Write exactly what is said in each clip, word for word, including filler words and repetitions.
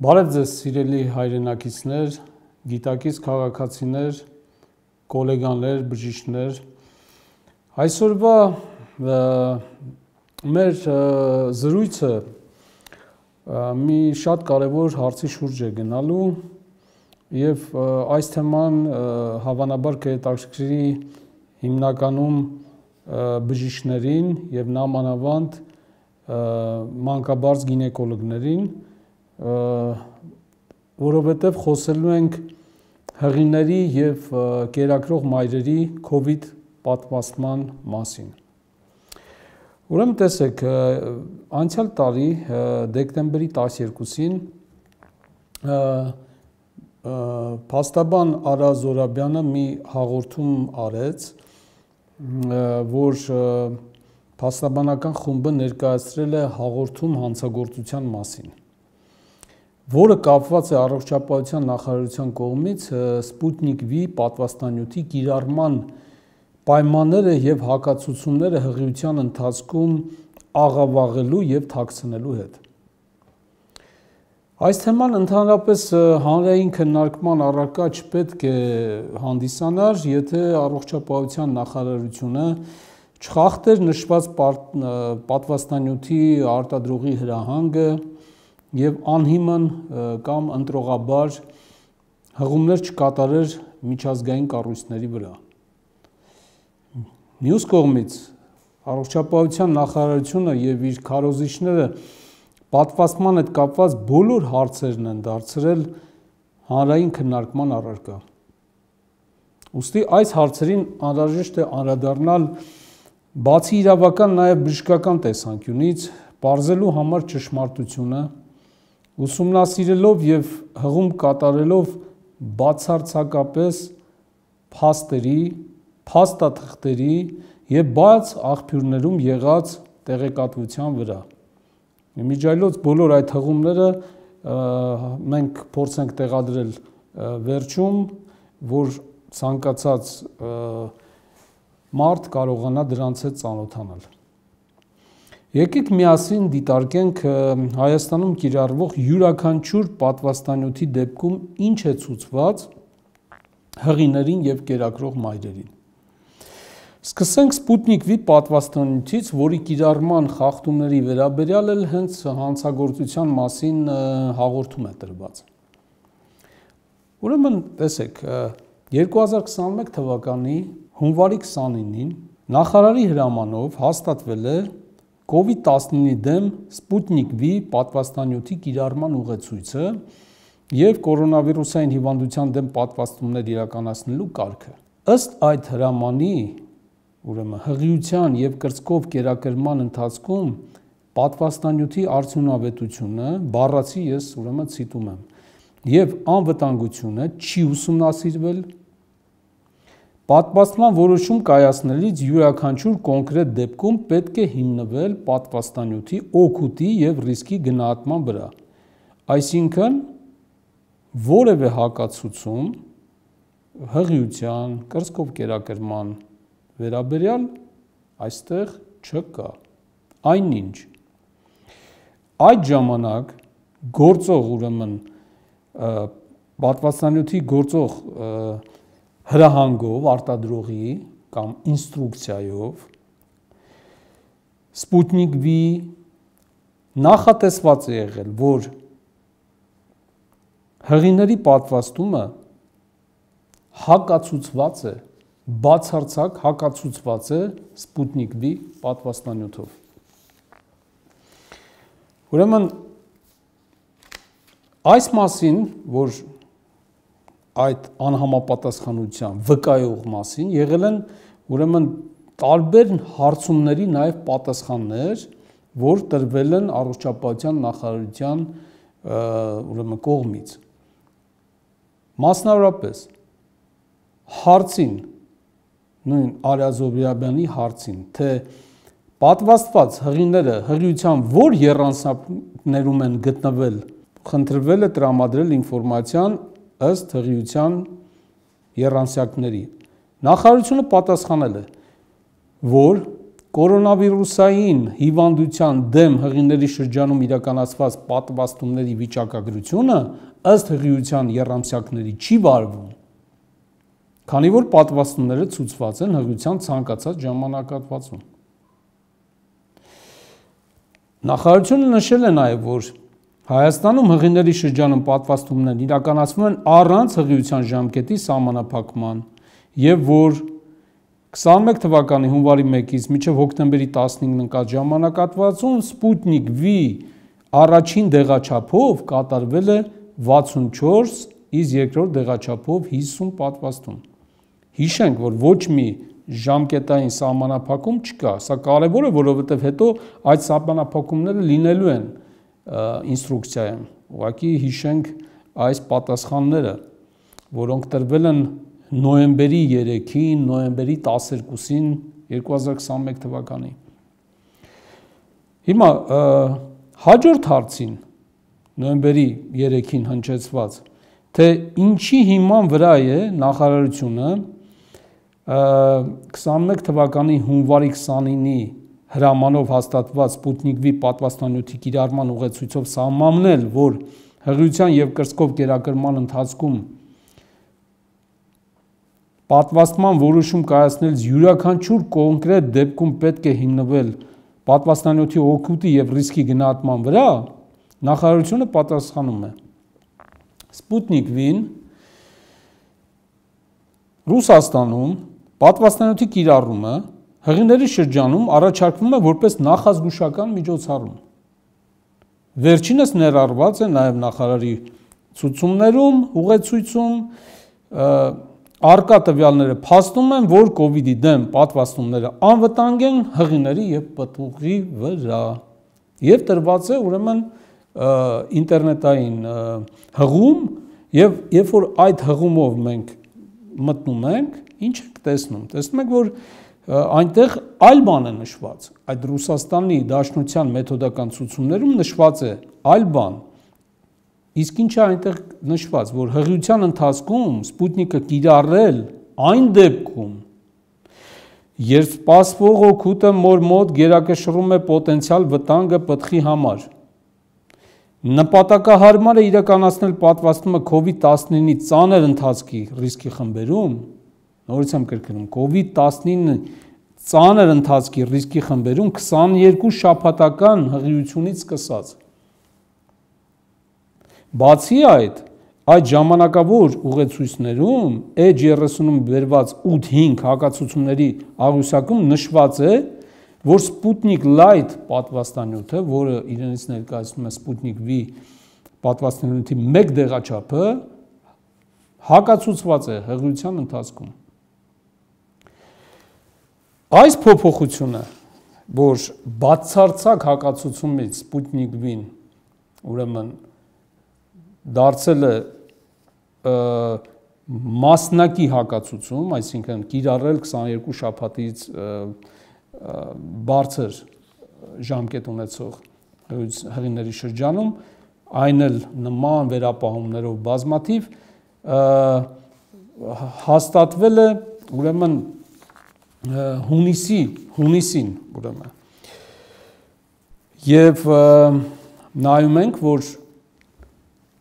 Բարև ձեզ սիրելի հայրենակիցներ, գիտակից քաղաքացիներ, գոլեգաններ, բժիշկներ։ Այսօրվա մեր զրույցը մի շատ կարևոր հարցի շուրջ է գնալու եւ այս թեման հավանաբար կհետաքրքրի հիմնականում բժիշկներին եւ նամանավանդ մանկաբարձ գինեկոլոգներին, որովհետև խոսելու ենք հղիների եւ կերակրող մայրերի COVID պատվաստման մասին։ Ուրեմն տեսեք, անցյալ տարի դեկտեմբերի տասներկուսին փաստաբան Արա Զորաբյանը մի հաղորդում արեց, որ փաստաբանական խումբը ներկայացրել է հաղորդում հանցագործության մասին, որը կապված է առողջապահության նախարարության կողմից Սպուտնիկ V պատվաստանյութի կիրառման պայմանները եւ հակացուցումները հղիության ընթացքում աղավաղելու եւ թաքցնելու հետ։ Այս թեման ընդհանրապես հանրային քննարկման առարկա չպետք է հանդիսանար, եթե առողջապահության նախարարությունը չխախտեր նշված պատվաստանյութի արտադրողի հրահանգը եւ անհիմն կամ ընտրողաբար հղումներ չկատարեր միջազգային կառույցների վրա։ Մյուս կողմից առողջապահության նախարարությունը եւ իր քարոզիչները պատվաստման հետ կապված բոլոր հարցերն են դարձրել հանրային քննարկման առարկա։ Ուստի այս հարցերին անհրաժեշտ է անդրադառնալ բացի իրավական նաեւ բժշկական տեսանկյունից, պարզելու համար ճշմարտությունը, ուսումնասիրելով եւ հղում կատարելով բացարձակապես փաստերի, փաստաթղթերի եւ բաց աղբյուրներում եղած տեղեկատվության վրա։ Իմիջիայլոց բոլոր այդ հղումները մենք փորձենք տեղադրել վերջում, որ ցանկացած մարդ կարողանա դրանց հետ ծանոթանալ։ Եկեք միասին դիտարկենք Հայաստանում կիրառվող յուրաքանչյուր պատվաստանյութի դեպքում ինչ է ցուցված հղիներին եւ կերակրող մայրերին։ Սկսենք Սպուտնիկ V պատվաստանյութից, որի կիրառման խախտումների վերաբերյալ էլ հենց հանցագործության մասին հաղորդում է տրված։ Ուրեմն տեսեք, երկու հազար քսաներկու թվականի հունվարի քսանինին նախարարի հրամանով հաստատվել է COVID տասնինի դեմ Սպուտնիկ V պատվաստանյութի կիրառման ուղեցույցը եւ կորոնավիրուսային հիվանդության դեմ պատվաստումներ իրականացնելու կարգը։ Ըստ այդ հրամանի, ուրեմն հղիության եւ կրծքով կերակրման ընթացքում պատվաստանյութի արդյունավետությունը, բառացի ես ուրեմն ցիտում եմ, եւ անվտանգությունը չի ուսումնասիրվել, պատվաստման որոշում կայացնելիս յուրաքանչյուր կոնկրետ դեպքում պետք է հիմնվել պատվաստանյութի օգուտի եւ ռիսկի գնահատման վրա։ Այսինքն որևէ հակացուցում հղիության, կրծքով կերակրման վերաբերյալ այստեղ չկա։ Այնինչ այդ ժամանակ գործող ուրեմն պատվաստանյութի գործող հրահանգով արտադրողի կամ ինստրուկցիայով Սպուտնիկ V նախատեսված է եղել, որ հղիների պատվաստումը հակացուցված է, բացարձակ հակացուցված է Սպուտնիկ V պատվաստանյութով։ Ուրեմն այս մասին, որ այդ անհամապատասխանության վկայող մասին եղել են ուրեմն տարբեր հարցումների նաև պատասխաններ, որ տրվել են առողջապահության նախարարության ուրեմն կողմից։ Մասնավորապես հարցին, նույն Արա Զորաբյանի հարցին, թե պատվաստված հղիները հղիության որ եռանցքներում են գտնվել, խնդրվել է տրամադրել ինֆորմացիան ըստ հղիության եռանցքների։ Նախարարությունը պատասխանել է, որ կորոնավիրուսային հիվանդության դեմ հղիների շրջանում իրականացված պատվաստումների վիճակագրությունը ըստ հղիության եռամսյակների չի վարվում, քանի որ պատվաստումները ցուցված են հղիության ցանկացած ժամանակահատվածում։ Նախարարությունը նշել է նաև, որ Հայաստանում հղիների շրջանում պատվաստումներն իրականացվում են առանց հղիության ժամկետի սահմանափակման և որ քսանմեկ թվականի հունվարի մեկից մինչև հոկտեմբերի տասնինը ընկած ժամանակահատվածում Սպուտնիկ V առաջին դեղաչափով կատարվել է վաթսունչորս, իսկ երկրորդ դեղաչափով հիսուն պատվաստում։ Հիշենք, որ ոչ մի ժամկետային սահմանափակում չկա, սա կարևոր է, որովհետև հետո այդ սահմանափակումները լինելու են ինստրուկցիայում, ուղղակի հիշենք այս պատասխանները, որոնք տրվել են նոյեմբերի երեքին, նոյեմբերի տասներկուսին երկու հազար քսանմեկ թվականի։ Հիմա հաջորդ հարցին, նոյեմբերի երեքին հնչեցված, թե ինչի հիման վրա է նախարարությունը քսանմեկ թվականի հունվարի քսանինի հրամանով հաստատված Սպուտնիկ V պատվաստանյութի կիրառման ուղեցույցով սահմանել, որ հղիության և կրծքով կերակրման ընթացքում պատվաստման որոշում կայացնելիս յուրաքանչյուր կոնկրետ դեպքում պետք է հիմնվել պատվաստանյութի օգուտի և ռիսկի գնահատման վրա, նախարարությունը պատասխանում է. Սպուտնիկ V-ն Ռուսաստանում պատվաստանյութի կիրառումը հղիների շրջանում առաջարկվում է որպես նախազգուշական միջոցառում։ Վերջինս ներառված է նաև նախարարի ցուցումներում, ուղեցույցում, առկա տվյալները փաստում են, որ կովիդի դեմ պատվաստումները անվտանգ են հղիների և պտուղի վրա և տրված է ուրեմն ինտերնետային հղում և երբ որ այդ հղումով մենք մտնում ենք, ինչ ենք տեսնում, տեսնում ենք, որ այնտեղ այլ բան է նշված, այդ Ռուսաստանի Դաշնության մեթոդական ցուցումներում նշված է այլ բան, իսկ ինչ է այնտեղ նշված, որ հղիության ընթացքում Սպուտնիկը կիրառել այն դեպքում, երբ սպասվող օգուտը մոր մոտ գերակշռում է պոտենցիալ վտանգը պտղի համար, նպատակահարմար է իրականացնել պատվաստումը կովիդ տասնինի ծանր ընթացքի ռիսկի խմբերում, նորից եմ կրկնում, կովիդ տասնինը ծանր ընթացքի ռիսկի խմբերում քսաներկու շաբաթական հղիությունից սկսած։ Բացի այդ, այդ ժամանակավոր ուղեցույցներում Էջ երեսունում բերված ութ հինգ հակացուցումների աղյուսակում նշված է, որ Սպուտնիկ Light պատվաստանյութը, որը իրենից ներկայացնում է Սպուտնիկ V պատվաստանյութի մեկ դեղաչափը, հակացուցված է հղիության ընթացքում։ Այս փոփոխությունը, որ բացարձակ հակացուցումից Սպուտնիկ V-ն ուրեմն դարձել է մասնակի հակացուցում, այսինքն կիրառել քսաներկու շաբաթից բարձր ժամկետ ունեցող հղիների շրջանում, այն էլ նման վերապահումներով բազմաթիվ հաստատվել է ուրեմն հունիսի, հունիսին ուրեմն։ Եվ նայում ենք, որ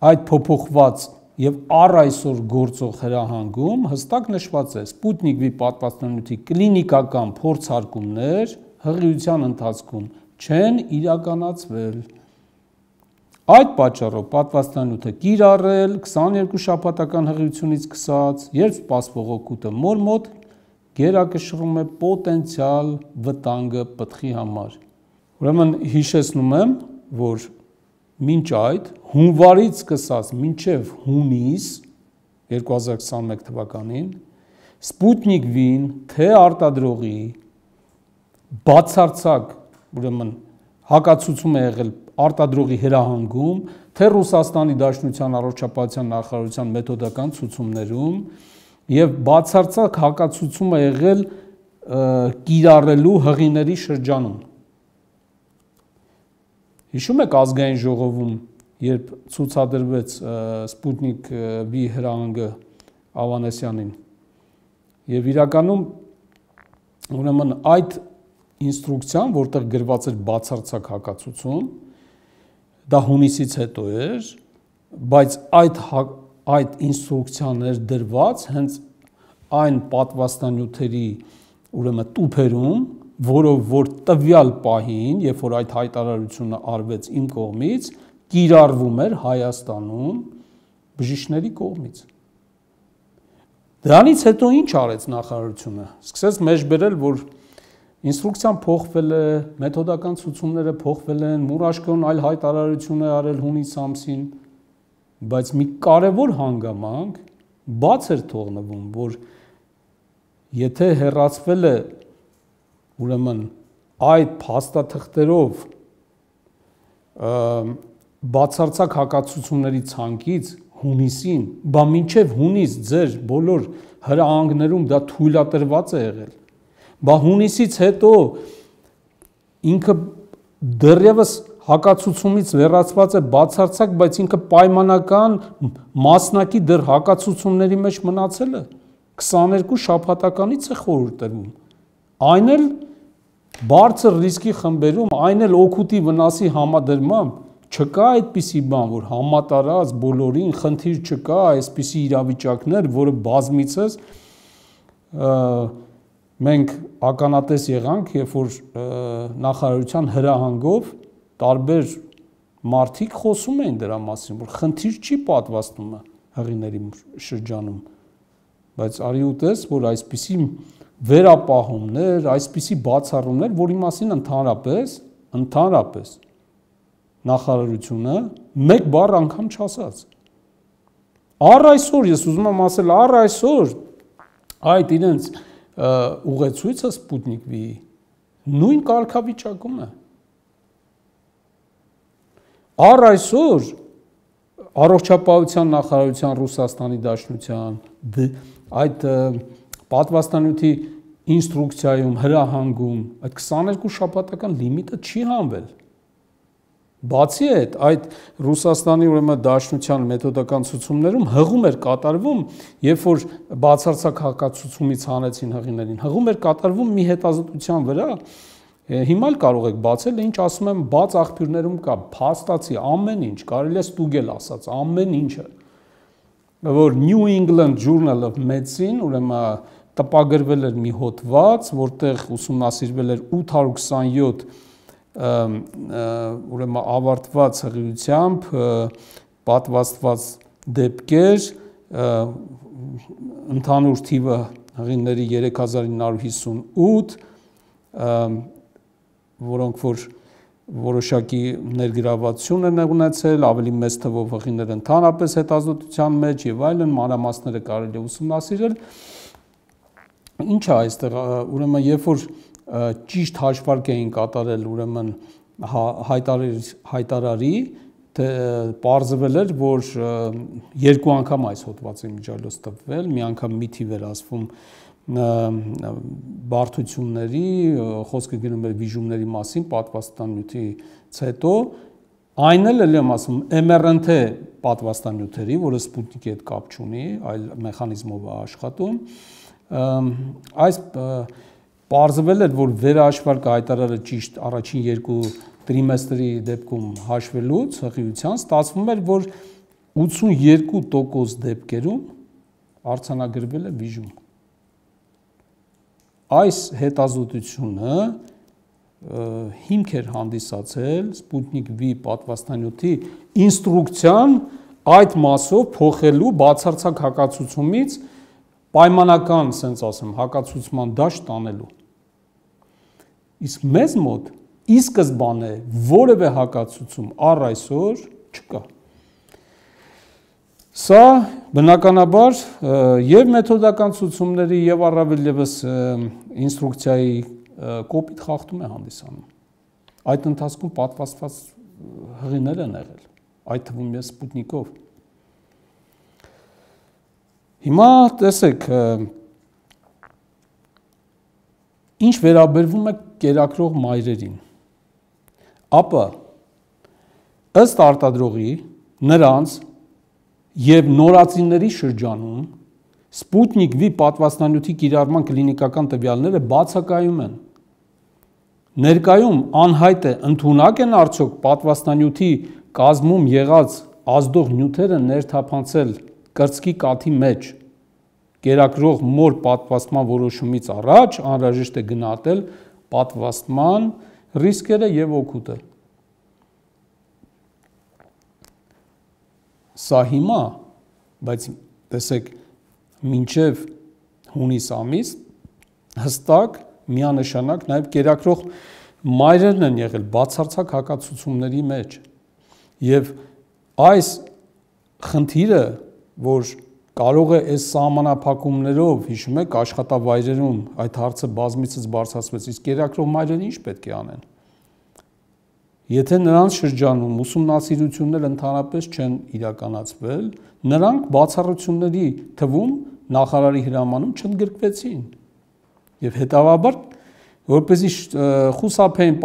այդ փոփոխված և առ այսօր գործող հրահանգում հստակ նշված է Սպուտնիկ V պատվաստանյութի կլինիկական փորձարկումներ հղիության ընթացքում չեն իրականացվել։ Այդ պատճառով պատվաստանյութը կիրառել քսաներկու շաբաթական հղիությունից սկսած, երբ սպասվող օգուտը մոր մոտ գերակշռում է պոտենցիալ վտանգը պտղի համար։ Ուրեմն հիշեցնում եմ, որ մինչ այդ հունվարից սկսած մինչև հունիս երկու հազար քսանմեկ թվականին Սպուտնիկ V-ն թե արտադրողի բացարձակ ուրեմն հակացուցում է եղել արտադրողի հրահանգում, թե Ռուսաստանի Դաշնության առողջապահության նախարարության մեթոդական ցուցումներում և բացարձակ հակացուցում է եղել կիրառելու հղիների շրջանում։ Հիշում եք ազգային ժողովում, երբ ցուցադրվեց Սպուտնիկ V հրահանգը Ավանեսյանին, և իրականում ուրեմն այդ ինստրուկցիան, որտեղ գրված էր բացարձակ հակացություն, դա հունիսից հետո էր, բայց այդ այդ ինստրուկցիան էր դրված հենց այն պատվաստանյութերի ուրեմն տուփերում, որով որ տվյալ պահին, երբ որ այդ հայտարարությունը արվեց իմ կողմից, կիրառվում էր Հայաստանում բժիշկների կողմից։ Դրանից հետո ինչ արեց նախարարությունը։ Սկսեց մեջբերել, որ ինստրուկցիան փոխվել է, մեթոդական ցուցումները փոխվել են, Մուրաշկոն այլ հայտարարություն է արել հունիս ամսին, բայց մի կարևոր հանգամանք բաց էր թողնվում, որ եթե հեռացվել է ուրեմն այդ փաստաթղթերով բացարձակ հակացությունների ցանկից հունիսին, բա մինչև հունիս ձեր բոլոր հրահանգներում դա թույլատրված է եղել, բա հունիսից հետո ինքը դեռևս հակացությունից լրացված է բացարձակ, բայց ինքը պայմանական մասնակի դեռ հակացությունների մեջ մնացել է, քսաներկու շաբաթականից է խորհուրդ տրվում, այն էլ բարձր ռիսկի խմբերում, այն էլ օգուտի վնասի համադրմամբ չկա այդպիսի բան, որ համատարած բոլորին խնդիր չկա, այսպիսի իրավիճակներ, որը բազմիցս մենք ականատես եղանք, երբ որ նախարարության հրահանգով տարբեր մարդիկ խոսում էին դրա մասին, որ խնդիր չի պատվաստում հղիների շրջանում, բայց արի ու տես, որ այսպիսի վերապահումներ, այսպիսի բացառումներ, որի մասին ընդհանրապես, ընդհանրապես նախարարությունը մեկ բառ անգամ չասաց։ Առ այսօր, ես ուզում եմ ասել, առ այսօր այդ իրենց ուղեցույցը Սպուտնիկ V-ի նույն կարգավիճակում է։ Առ այսօր առողջապահության նախարարության Ռուսաստանի Դաշնության այդ պատվաստանյութի ինստրուկցիայում, հրահանգում այդ քսաներկու շաբաթական լիմիտը չի հանվել։ Բացի այդ, այդ Ռուսաստանի ուրեմն Դաշնության մեթոդական ցուցումներում հղում էր կատարվում, երբ որ բացարձակ հակացությունից հանեցին հղիներին, հղում էր կատարվում մի հետազոտության վրա, հիմա էլ կարող եք բացել, ինչ ասում եմ, բաց աղբյուրներում կա, փաստացի ամեն ինչ, կարելի է ստուգել ասած, ամեն ինչը, որ New England Journal of Medicine, ուրեմն տպագրվել էր մի հոդված, որտեղ ուսումնասիրվել էր ութ հարյուր քսանյոթ ուրեմն ավարտված հղիությամբ պատվաստված դեպքեր, ընդհանուր թիվը հղիների երեք հազար ինը հարյուր հիսունութ, որոնք որ որոշակի ներգրավվածություն են ունեցել, ավելի մեծ թվով հղիներ ընդհանրապես հետազոտության մեջ եւ այլն, մանրամասները կարելի է ուսումնասիրել։ Ինչ է այստեղ, ուրեմն երբ որ ճիշտ հաշվարկ էին կատարել ուրեմն հայտարարի, հայտարարի պարզվել էր, որ երկու անգամ այս հոդվածի միջալոց տպվել, մի անգամ մի թիվ էր ասվում բարդությունների, խոսքը գնում էր վիժումների մասին, պատվաստանյութից հետո, այն էլ եմ ասում, էմ առ էն թի պատվաստանյութերի, որը Սպուտնիկի հետ կապ չունի, այլ մեխանիզմով է աշխատում, այս պարզվել էր, որ վերահաշվարկը հայտարարը ճիշտ առաջին երկու տրիմեստրի դեպքում հաշվելուց հղիության ստացվում էր, որ ութսունյոթ տոկոս դեպքերում արձանագրվել է վիժում։ Այս հետազոտությունը հիմք էր հանդիսացել Սպուտնիկ V պատվաստանյութի ինստրուկցիան այդ մասով փոխելու բացարձակ հակացությունից պայմանական, սենց ասեմ, հակացուցման դաշտ տանելու։ Իսկ մեզ մոտ ի սկզբանե որևէ հակացություն առ այսօր չկա։ Սա բնականաբար եւ մեթոդական ցուցումների եւ առավել եւս ինստրուկցիայի կոպիտ խախտում է հանդիսանում։ Այդ ընթացքում պատվաստված հղիներ են եղել, այդ թվում ես Սպուտնիկով։ Հիմա տեսեք, ինչ վերաբերվում է կերակրող մայրերին, ապա ըստ արտադրողի նրանց եւ նորածինների շրջանում Սպուտնիկ V պատվաստանյութի կիրառման կլինիկական տվյալները բացակայում են։ Ներկայում անհայտ է ընդունակ են արդյոք պատվաստանյութի կազմում եղած ազդող նյութերը ներթափանցել կրծքի կաթի մեջ կերակրող մոր պատվաստման որոշումից առաջ անհրաժեշտ է գնահատել պատվաստման ռիսկերը եւ օգուտը։ Սա հիմա, բայց տեսեք, մինչև հունիս ամիս հստակ միանշանակ նաև կերակրող մայրերն են եղել բացարձակ հակացությունների մեջ եւ այս խնդիրը, որ կարող է այս սահմանափակումներով, հիշում եք, աշխատավայրերում այդ հարցը բազմիցս բարձրացվեց, իսկ կերակրող մայրերը ինչ պետք է անեն։ Եթե նրանց շրջանում ուսումնասիրություններ ընդհանրապես չեն իրականացվել, նրանք բացառությունների թվում նախարարի հրամանում չընդգրկվեցին։ Եվ հետևաբար, որպեսզի խուսափեին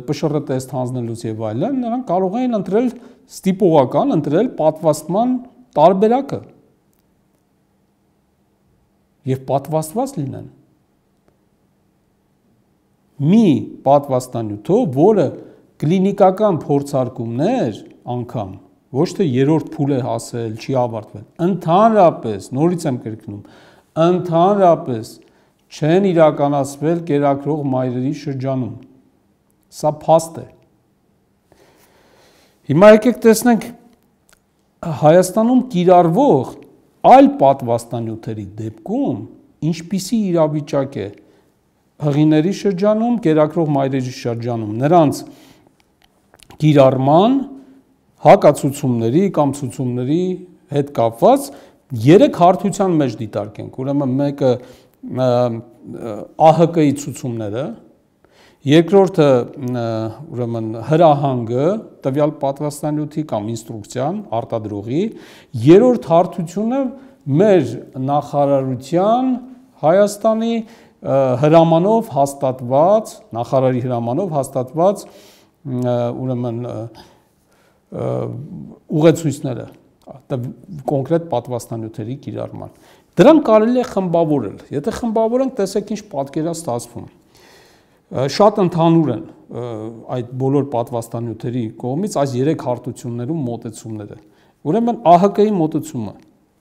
պշռը տեստ հանձնելուց եւ այլն, նրանք կարող էին ընտրել ստիպողական, ընտրել պատվաստման տարբերակը եւ պատվաստված լինեն։ Մի պատվաստանյութով, որը կլինիկական փորձարկումներ անգամ ոչ թե երրորդ փուլ է հասել, չի ավարտվել, ընդհանրապես, նորից եմ կրկնում, ընդհանրապես չեն իրականացվել կերակրող մայրերի շրջանում։ Սա փաստ է։ Հիմա եկեք տեսնենք Հայաստանում կիրառվող այլ պատվաստանյութերի դեպքում ինչպիսի իրավիճակ է հղիների շրջանում, կերակրող մայրերի շրջանում, նրանց կիրառման հակացուցումների կամ ցուցումների հետ կապված երեք հարթության մեջ դիտարկենք։ Ուրեմն մեկը ԱՀԿ-ի ցուցումները, երկրորդը ուրեմն հրահանգը տվյալ պատվաստանյութի կամ ինստրուկցիան արտադրողի, երրորդ հարթությունը մեր նախարարության Հայաստանի հրամանով հաստատված, նախարարի հրամանով հաստատված ուրեմն ուղեցույցները կոնկրետ պատվաստանյութերի կիրառման։ Դրանք կարելի է խմբավորել։ Եթե խմբավորենք, տեսեք ինչ պատկեր է ստացվում։ Շատ ընդհանուր են այդ բոլոր պատվաստանյութերի կողմից այս երեք հարթություններում մոտեցումները։ Ուրեմն ԱՀԿ-ի մոտեցումը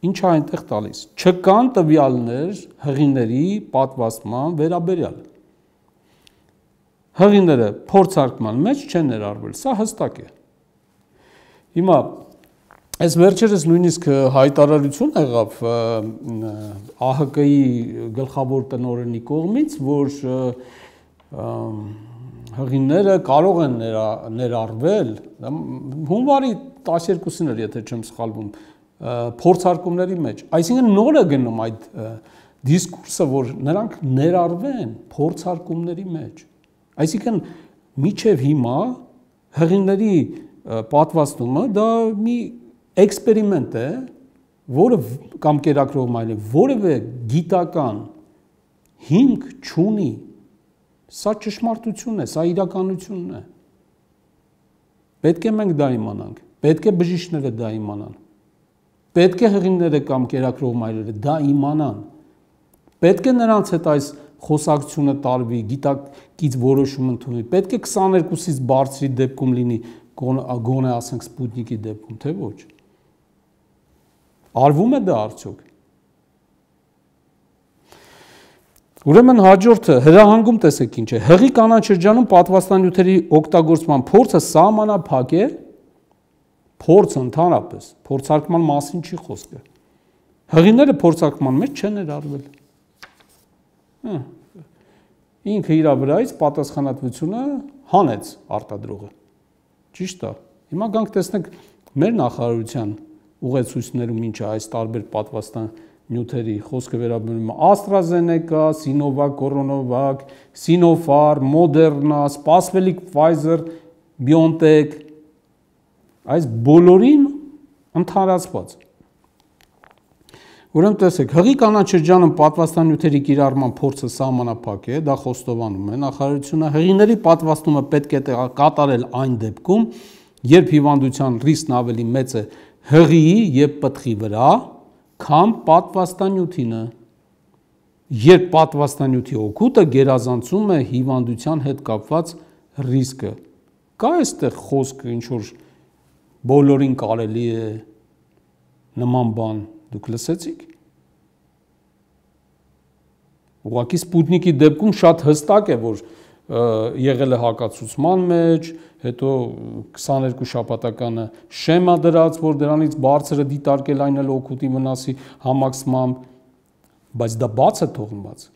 ինչ է այնտեղ տալիս։ Չկան տվյալներ հղիների պատվաստման վերաբերյալ։ Հղիները փորձարկման մեջ չեն ներառվել, սա հստակ է։ Հիմա այս վերջերս նույնիսկ հայտարարություն եղավ ԱՀԿ-ի գլխավոր տնօրենի կողմից, որ հղիները կարող են ներառվել, հունվարի տասներկուսին էր, եթե չեմ սխալվում, փորձարկումների մեջ, այսինքն նոր է գնում այդ դիսկուրսը, որ նրանք ներառվեն փորձարկումների մեջ, այսինքն մինչև հիմա հղիների պատվաստումը դա մի էքսպերիմենտ է, որը կամ կերակրող մայրը որևէ գիտական հիմք չունի, սա ճշմարտություն է, սա իրականությունն է։ Պետք է մենք դա իմանանք, պետք է բժիշկները դա իմանան, պետք է հղիները կամ կերակրող մայրերը դա իմանան, պետք է նրանց հետ այս խոսակցությունը տարվի, գիտակից որոշում ընդունվի, պետք է քսաներկուսից բարձրի դեպքում լինի, գոնե ասենք Սպուտնիկի դեպքում, թե ոչ։ Արվում է դա արդյոք։ Ուրեմն հաջորդը հրահանգում տեսեք ինչ է։ Հղի կանանչ շրջանում պատվաստանյութերի օգտագործման փորձը սահմանափակ է, փորձը ընդհանրապես, փորձարկման մասին չի խոսքը։ Հղիները փորձարկման մեջ չեն ներառվել։ Ինքը իր վրայից պատասխանատվությունը հանեց արտադրողը։ Ճիշտ է։ Հիմա գանք տեսնենք մեր նախարարության ուղեցույցներում ինչ է այս տարբեր պատվաստանյութերի խոսքը վերաբերում է AstraZeneca, Sinovac, Coronavac, Sinopharm, Moderna, սպասվելիք Pfizer, BioNTech, այս բոլորին ընդհանրացված։ Ուրեմն տեսեք, հղի կանանչ շրջանում պատվաստանյութերի կիրառման փորձը սահմանափակ է, դա խոստովանում է նախարարությունը, հղիների պատվաստումը պետք է կատարել այն դեպքում, երբ հիվանդության ռիսկն ավելի մեծ է հղիի եւ պտղի վրա, քան պատվաստանյութինը։ երբ պատվաստանյութի օգուտը գերազանցում է հիվանդության հետ կապված ռիսկը։ Կա այստեղ խոսքը ինչ որ բոլորին կարելի է նման բան դուք լսեցիք։ Ուղղակի Սպուտնիկի դեպքում շատ հստակ է, որ եղել է հակացուցման մեջ, հետո քսաներկու շաբաթականը շեմա դրած, որ դրանից բարձրը դիտարկել այն էլ օգուտի վնասի համակցմամբ, բայց դա բաց է թողնված։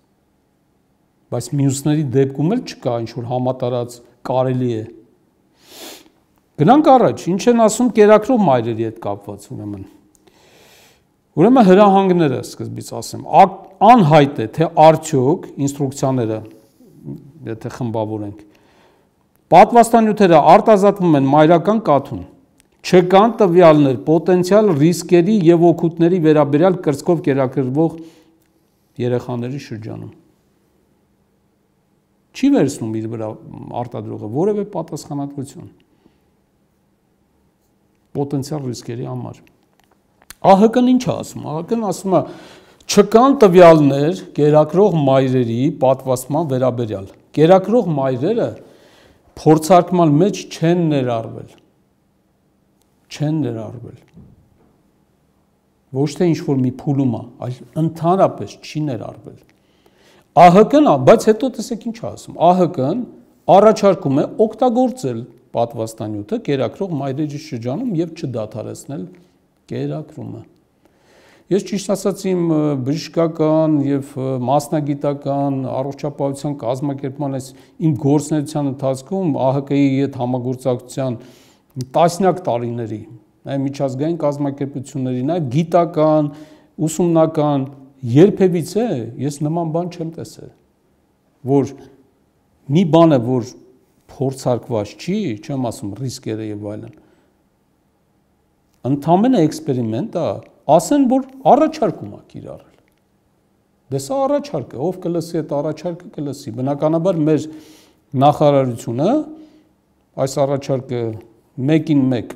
Բայց մյուսների դեպքում էլ չկա ինչ որ համատարած կարելի է։ Գնանք առաջ, ինչ են ասում կերակրող մայրերի հետ կապված ուրեմն։ Ուրեմն հրահանգները սկզբից ասեմ, անհայտ է, թե արդյոք ինստրուկցիաները, եթե խմբավորենք, պատվաստանյութերը արտազատվում են մայրական կաթում, չկան տվյալներ պոտենցիալ ռիսկերի եւ օգուտների վերաբերյալ կրծքով կերակրվող երեխաների շրջանում։ Չի վերցնում իր վրա արտադրողը որևէ պատասխանատվություն պոտենցիալ ռիսկերի համար։ ԱՀԿ-ն ինչ է ասում։ ԱՀԿ-ն ասում է չկան տվյալներ կերակրող մայրերի պատվաստման վերաբերյալ։ Կերակրող մայրերը փորձարկման մեջ չեն ներառվել։ Չեն ներառվել։ Ոչ թե ինչ որ մի փուլում է, այլ ընդհանրապես չի ներառվել։ ԱՀԿ-ն, բայց հետո տեսեք ինչ է ասում։ ԱՀԿ-ն առաջարկում է օգտագործել պատվաստանյութը կերակրող մայրերի շրջանում եւ չդադարեցնել կերակրումը։ Ես ճիշտ ասած իմ բժշկական եւ մասնագիտական առողջապահության կազմակերպման այս իմ գործունեության ընթացքում ԱՀԿ-ի հետ համագործակցության տասնյակ տարիների, այ միջազգային կազմակերպությունների, նաեւ գիտական, ուսումնական երբևիցե ես նման բան չեմ տեսել, որ մի բան է, որ փորձարկված չի, չեմ ասում ռիսկերը եւ այլն, ընդամենը էքսպերիմենտ է, ասեն, որ առաջարկում է կիրառել։ Դե սա առաջարկ է, ով կլսի այդ առաջարկը կլսի։ Բնականաբար մեր նախարարությունը այս առաջարկը մեկին մեկ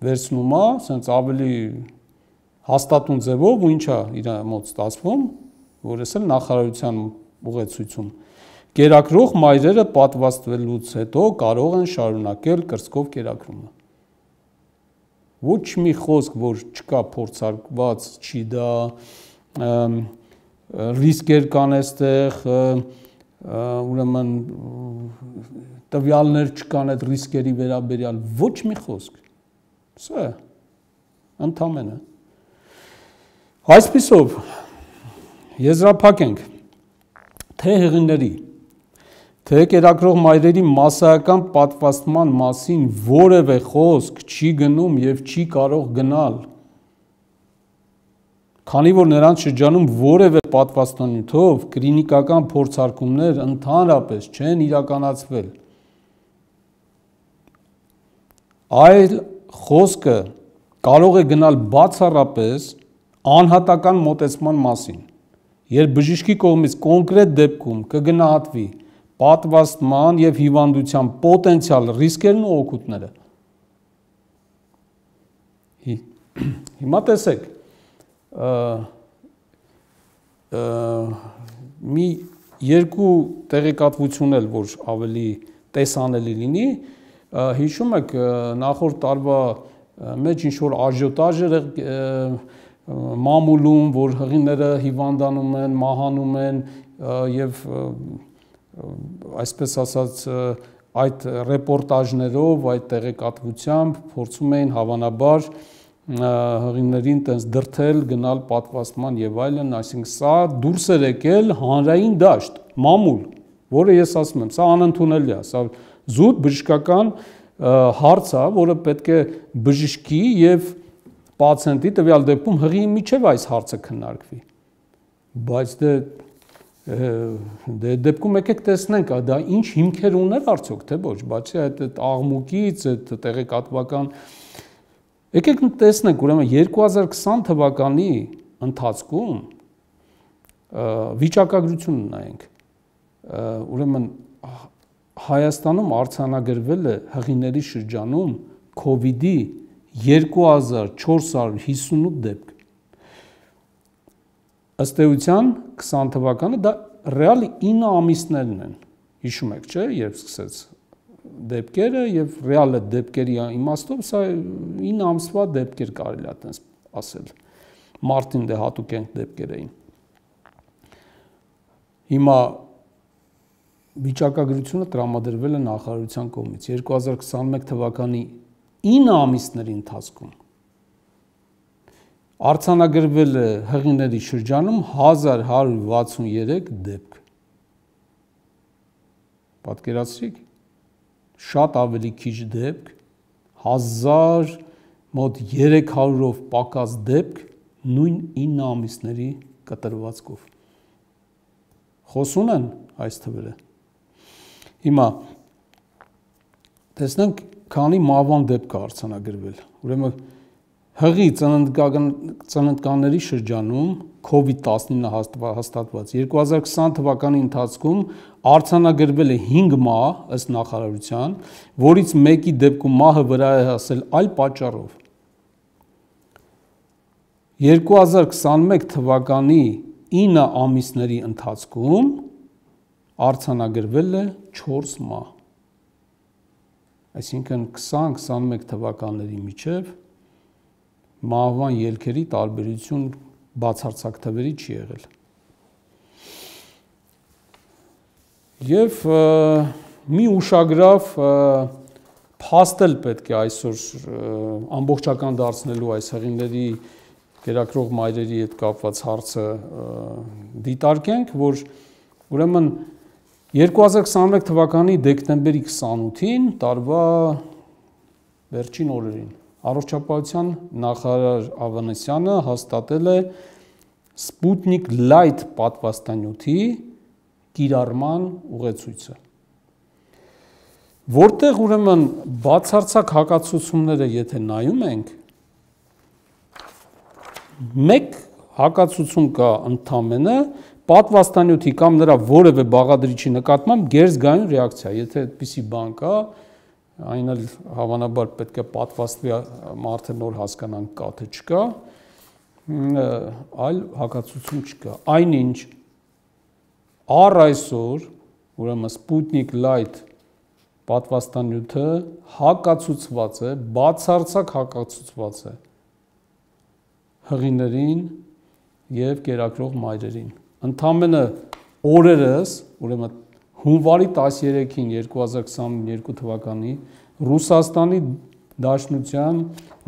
վերցնում է, ասենց ավելի հաստատուն ձևով ու ինչա իր մոտ ստացվում, որ էս էլ նախարարության ուղեցույցում կերակրող մայրերը պատվաստվելուց հետո կարող են շարունակել կրծքով կերակրումը։ Ոչ մի խոսք, որ չկա փորձարկված, չի դա ռիսկեր կան այստեղ, ուրեմն տվյալներ չկան այդ ռիսկերի վերաբերյալ, ոչ մի խոսք։ Սա է, ընդամենը։ Այսպիսով, եզրափակենք, թե հեղիների, թե կերակրող մայրերի մասսայական պատվաստման մասին որևէ խոսք չի գնում եւ չի կարող գնալ, քանի որ նրանց շրջանում որևէ պատվաստանյութով կլինիկական փորձարկումներ ընդհանրապես չեն իրականացվել։ Այլ խոսքը կարող է գնալ բացառապես անհատական մոտեցման մասին, երբ բժշկի կողմից կոնկրետ դեպքում կգնահատվի պատվաստման եւ հիվանդության պոտենցիալ ռիսկերն ու օգուտները։ Հիմա տեսեք, մի երկու տեղեկատվություն էլ, որ ավելի տեսանելի լինի, հիշում եք նախորդ տարվա մեջ ինչ որ աժիոտաժ էր մամուլում, որ հղիները հիվանդանում են, մահանում են եւ այսպես ասած այդ ռեպորտաժներով, այդ տեղեկատվությամբ փորձում էին հավանաբար հղիներին տենց դրթել, գնալ պատվաստման եւ այլն, այսինքն սա դուրս էր եկել հանրային դաշտ, մամուլ, որը ես ասում եմ, սա անընդունելի է, սա զուտ բժշկական հարց է, որը պետք է բժշկի եւ պացիենտի տվյալ դեպքում հղիի միջև այս հարցը քննարկվի։ Բայց դե դե դեպքում եկեք տեսնենք, դա ինչ հիմքեր ուներ արդյոք, թե ոչ, բացի այդ աղմուկից, այդ տեղեկատվական, եկեք տեսնենք, ուրեմն երկու հազար քսան թվականի ընթացքում վիճակագրություն նայենք, ուրեմն Հայաստանում արձանագրվել է հղիների շրջանում քովիդի երկու հազար չորս հարյուր հիսունութ դեպք։ ըստ էության քսան թվականը դա ռեալի ինը ամիսներն են։ Հիշում եք, չէ՞, երբ սկսեց դեպքերը եւ ռեալ է դեպքերի իմաստով սա ինը ամսվա դեպքեր կարելի է այդպես ասել։ Մարտին դե հատուկ են դեպքեր էին։ Հիմա վիճակագրությունը տրամադրվել է նախարարության կողմից երկու հազար քսաներկու թվականի ինը ամիսների ընթացքում արձանագրվել է հղիների շրջանում հազար հարյուր վաթսուներեք դեպք։ Պատկերացրիք, շատ ավելի քիչ դեպք, հազար մոտ երեք հարյուրով պակաս դեպք նույն ինը ամիսների կտրվածքով։ Խոսուն են այս թվերը։ Հիմա տեսնենք քանի մահվան դեպք է արձանագրվել։ Ուրեմն հղի ծննդկանների շրջանում քովիդ տասնինը հաստատված երկու հազար քսան թվականի ընթացքում արձանագրվել է հինգ մահ ըստ նախարարության, որից մեկի դեպքում մահը վրա է հասել այլ պատճառով։ երկու հազար քսաներկու թվականի ինը ամիսների ընթացքում արձանագրվել է չորս մահ։ Այսինքն քսան քսաներկու թվականների միջև մահվան ելքերի տարբերություն բացարձակ թվերի չի եղել։ Եվ մի ուշագրավ փաստել պետք է այսօր ամբողջական դարձնելու այս հղիների կերակրող մայրերի հետ կապված հարցը դիտարկենք, որ ուրեմն երկու հազար քսաներկու թվականի դեկտեմբերի քսանութին տարվա վերջին օրերին Առողջապահության նախարար Ավանեսյանը հաստատել է Sputnik Light պատվաստանյութի կիրառման ուղեցույցը, որտեղ ուրեմն բացարձակ հակացությունները եթե նայում ենք, մեկ հակացություն կա ընդամենը պատվաստանյութի կամ նրա որևէ բաղադրիչի նկատմամբ գերզգայուն ռեակցիա, եթե այդպիսի բան կա, այն էլ հավանաբար պետք է պատվաստվի մարդը նոր հասկանանք կա թե չկա, այլ հակացություն չկա։ Այնինչ առ այսօր, ուրեմն Sputnik Light պատվաստանյութը հակացուցված է, բացարձակ հակացուցված է հղիներին եւ կերակրող մայրերին։ Ընդամենը օրերս, ուրեմն հունվարի տասներեքին երկու հազար քսաներկու թվականի Ռուսաստանի Դաշնության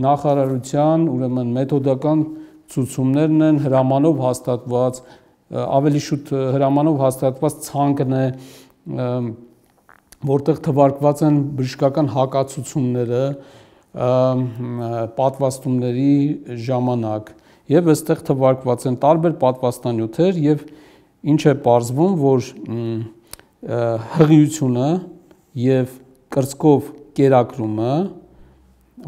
նախարարության ուրեմն մեթոդական ցուցումներն են հրամանով հաստատված, ավելի շուտ հրամանով հաստատված ցանկն է, որտեղ թվարկված են բժշկական հակացությունները պատվաստումների ժամանակ եւ այստեղ թվարկված են տարբեր պատվաստանյութեր եւ ինչ է պարզվում, որ հղիությունը եւ կրծքով կերակրումը,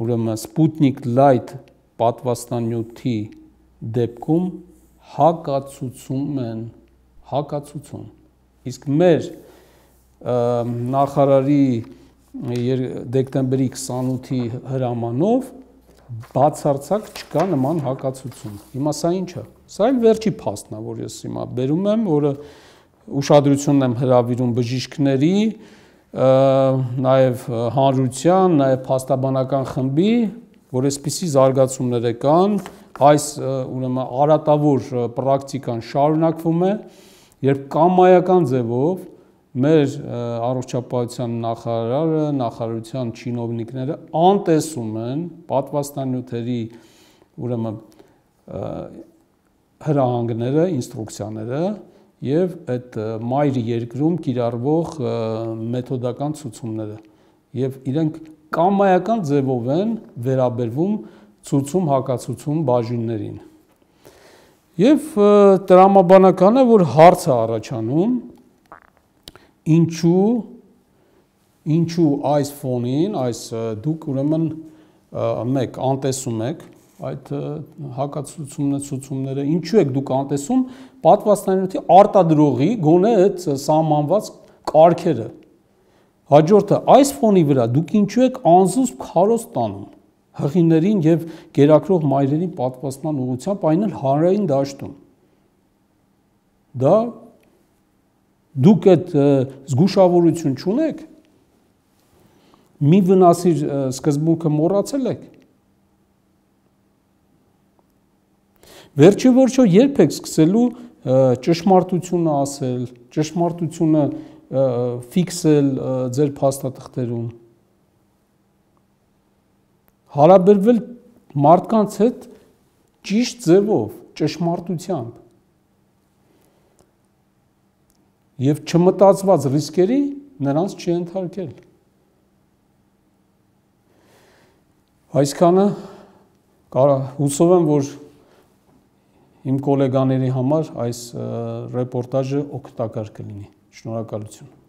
ուրեմն Sputnik Light պատվաստանյութի դեպքում հակացուցում են, հակացություն։ Իսկ մեր նախարարի դեկտեմբերի քսանութի հրամանով բացարձակ չկա նման հակացություն։ Հիմա սա ինչ է։ Սա էլ վերջի փաստն է, որ ես հիմա բերում եմ, որը ուշադրությունն եմ հրավիրում բժիշկների, նաև հանրության, նաև փաստաբանական խմբի, որ այսպիսի զարգացումներ կան, այս ուրեմն արատավոր պրակտիկան շարունակվում է, երբ կամայական ձևով մեր առողջապահության նախարարը, նախարարության չինովնիկները անտեսում են պատվաստանյութերի ուրեմն հրահանգները, ինստրուկցիաները եւ այդ մայր երկրում կիրառվող մեթոդական ցուցումները եւ իրենք կամայական ձևով են վերաբերվում ցուցում հակացուցում բաժիններին։ Եվ տրամաբանականը, որ հարց է առաջանում, ինչու ինչու այս ֆոնին, այս դուք ուրեմն մեկ անտեսում եք այդ հակացությունները, ցուցումները, ինչու եք դուք անտեսում պատվաստանյութի արտադրողի գոնե այդ սահմանված կարգերը։ Հաջորդը, այս ֆոնի վրա դուք ինչու եք անզուսպ քարոզ տանում հղիներին եւ գերակրող մայրերին պատվաստման ուղղությամբ, այն էլ հանրային դաշտում։ դա դուք այդ զգուշավորություն չունեք, մի վնասի սկզբունքը մոռացել եք։ Վերջի վերջո երբ եք սկսելու ճշմարտությունը ասել, ճշմարտությունը ֆիքսել ձեր փաստաթղթերում, հարաբերվել մարդկանց հետ ճիշտ ձևով, ճշմարտությամբ եւ չմտածված ռիսկերի նրանց չընթարկել։ Այսքանը հուսով եմ, որ իմ գոլեգաների համար այս ռեպորտաժը օգտակար կլինի։ Շնորհակալություն։